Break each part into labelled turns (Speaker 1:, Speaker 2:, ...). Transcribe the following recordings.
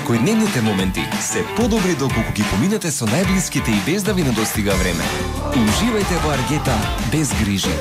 Speaker 1: Секојдневните моменти се подобри доколку ги поминете со најблиските и без да ви недостига време. Уживајте во Аргета без грижи.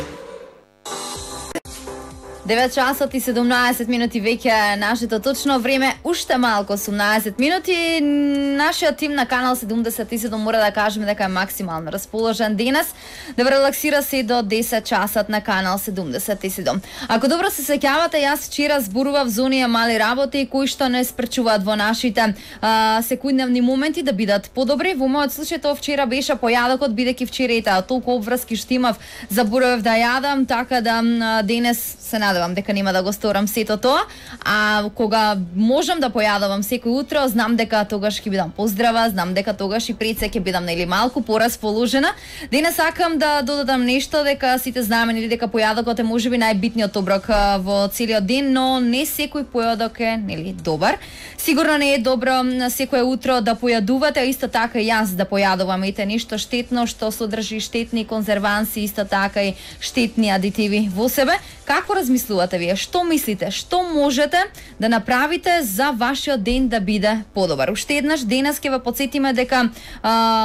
Speaker 2: 9 часот и 17 минути веќе нашето точно време, уште малку 18 минути. Нашиот тим на Канал 77 мора да кажеме дека е максимално расположен денес, да релаксира се до 10 часот на Канал 77. Ако добро се сеќавате, јас вчера зборував за оние мали работи кои што не спречуваат во нашите секојдневни моменти да бидат подобри. Во мојот случај тоа вчера беше појадокот, бидејќи вчера толку обврски што имав, заборавав да јадам, така да денес се надевам дека нема да го сторам сето тоа, а кога можам да појадувам секој утро, знам дека тогаш ќе бидам поздрава, знам дека тогаш и пред се ќе бидам нели малку порасположена. Денес сакам да додадам нешто, дека сите знаеме нели дека појадокот е можеби најбитниот оброк во целиот ден, но не секој појадок е нели добар. Сигурно не е добро секое утро да појадувате, а исто така и јас да појадувам ете нешто штетно што содржи штетни конзерванси, исто така и штетни адитиви во себе. Како размислувате вие? Што мислите? Што можете да направите за вашиот ден да биде подобар? Уште еднаш денес ќе ве потсетиме дека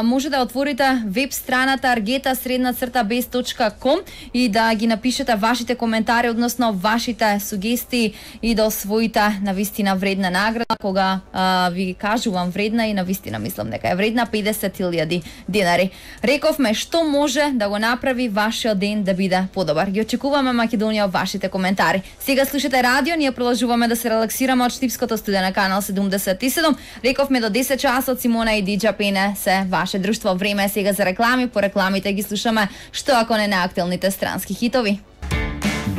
Speaker 2: може да отворите веб страната argeta_bez.com и да ги напишете вашите коментари, односно вашите сугестии и да освоите навистина вредна награда. Кога ви кажувам вредна и навистина мислам дека е вредна 50.000 денари. Рековме што може да го направи вашиот ден да биде подобар. Ги очекуваме Македонија вашите коментари. Сега слушате радио, ние продолжуваме да се релаксираме од Штипското студио на Канал 77. Рековме до 10 часот Симона и Диджа Пене се ваше друштво. Време е сега за реклами, по рекламите ги слушаме што ако не наактуелните странски хитови.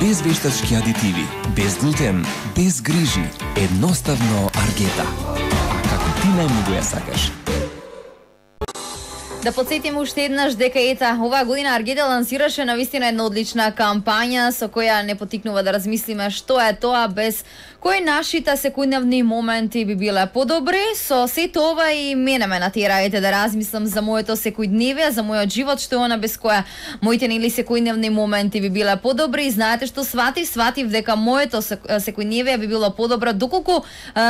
Speaker 1: Без вештачки адитиви, без глутен, без грижи, едноставно Аргета. А како ти најмногу ја сакаш?
Speaker 2: Да подсетиме уште еднаш дека ета оваа година Аргета лансираше навистина една одлична кампања со која не потикнува да размислиме што е тоа, без кои нашите секојдневни моменти би биле подобри. Со сето ова и мене ме натираете да размислам за моето секојдневие, за мојот живот, што е она без која моите нели секојдневни моменти би биле подобри. И знаете што сватив дека моето секојдневие би било подобро доколку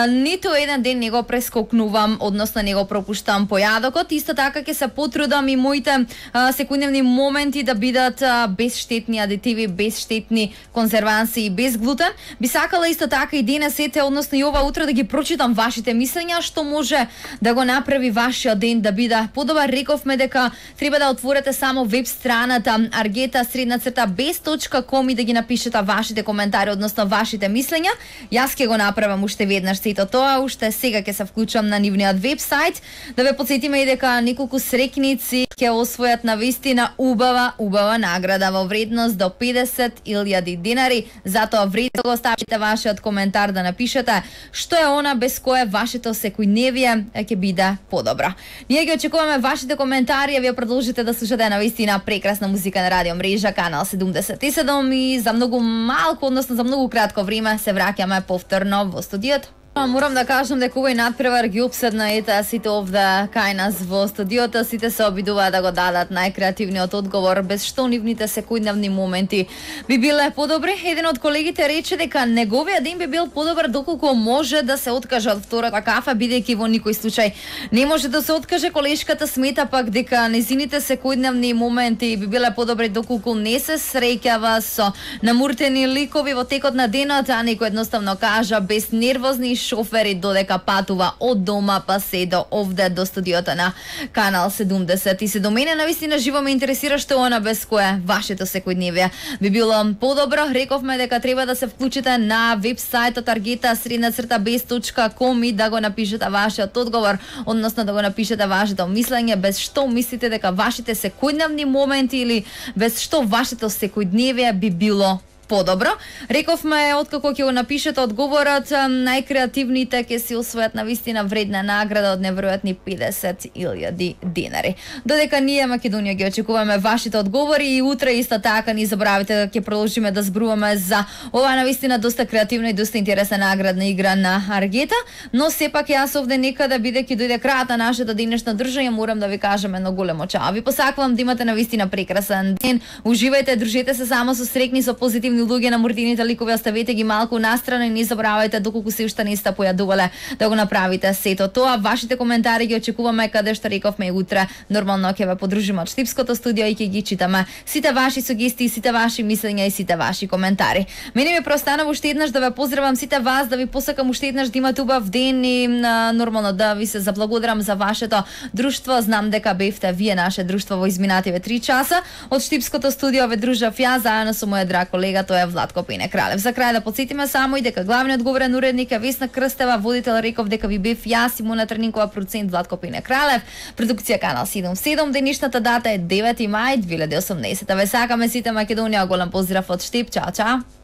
Speaker 2: ниту еден ден не го прескокнувам, односно не го пропуштам појадокот. Исто така ќе се потрудам и моите секојдневни моменти да бидат без штетни адитиви, без штетни конзерванси и без глутен. Би сакала исто така и денес односно и ова утро да ги прочитам вашите мислења, што може да го направи вашиот ден да биде подобар. Рековме дека треба да отворите само веб страната argeta_bez.com и да ги напишете вашите коментари, односно вашите мислења. Јас ќе го направам уште веднаш сето тоа, уште сега ќе се вклучам на нивниот вебсайт. Да ве потсетиме и дека неколку срекници ќе освојат навистина убава награда во вредност до 50.000 денари. Затоа вреди да го оставите вашиот коментар, да напишете што е она без кое вашето секојдневие ќе биде подобро. Ние ги очекуваме вашите коментари, а вие продолжите да слушате навистина прекрасна музика на радио мрежа Канал 77 и за многу малку, односно за многу кратко време се враќаме повторно во студиото. Морам да кажам дека овој надпревар ги обседна ета сите овде кај нас во студиото, сите се обидуваат да го дадат најкреативниот одговор, без што нивните секојдневни моменти би биле подобри. Еден од колегите рече дека неговиот ден би бил подобар доколку може да се откаже од втората кафа, бидејќи во никој случај не може да се откаже. Колешката смета пак дека незините секојдневни моменти би биле подобри доколку не се среќава со намуртени ликови во текот на денот, а некој едноставно кажа без нервозни шофери додека патува од дома па се до овде до студиото на Канал 77. Мене навистина живо ме интересира што она без кое вашето секојдневие би било подобро. Рековме дека треба да се вклучите на вебсајтот argeta_bez.com и да го напишете вашиот одговор, односно да го напишете вашето мислење, без што мислите дека вашите секојдневни моменти или без што вашето секојдневие би било подобро. Рековме, откако ќе го напишете одговорот, најкреативните ќе си освојат навистина вредна награда од неверојатни 50.000 денари. Додека ние Македонија ги очекуваме вашите одговори и утре исто така не забравите да ќе продолжиме да зборуваме за ова навистина доста креативна и доста интересна наградна игра на Аргета, но сепак јас овде некада бидејќи дојде крајот на нашето денешно држање, морам да ви кажам едно големо чао. Ви посакувам да имате навистина прекрасен ден. Уживајте, дружете се само со срекни, со позитивни подобни луѓе на мордините ликови оставете ги малку настрана и не заборавајте доколку се уште не сте појадувале да го направите сето тоа. Вашите коментари ги очекуваме, каде што рековме и утре нормално ќе ве подружиме од Штипското студио и ќе ги читаме сите ваши сугестии, сите ваши мислења и сите ваши коментари. Мене ми преостанува уште еднаш да ве поздравам сите вас, да ви посакам уште еднаш да имате убав ден и нормално да ви се заблагодарам за вашето друштво. Знам дека бевте вие наше друштво во изминативе 3 часа. Од Штипското студио ве дружав ја заедно со мојот драг колега, тоа е Владко Пене Кралев. За крај да потсетиме само и дека главниот говорен уредник е Весна Крстева, водител реков дека ви бев јас и Мона Трнинкова, продуцент Владко Пене Кралев, продукција Канал 77. Денешната дата е 9 мај 2018. Ве сакаме сите Македонија, голем поздрав од Штип. Чао, чао.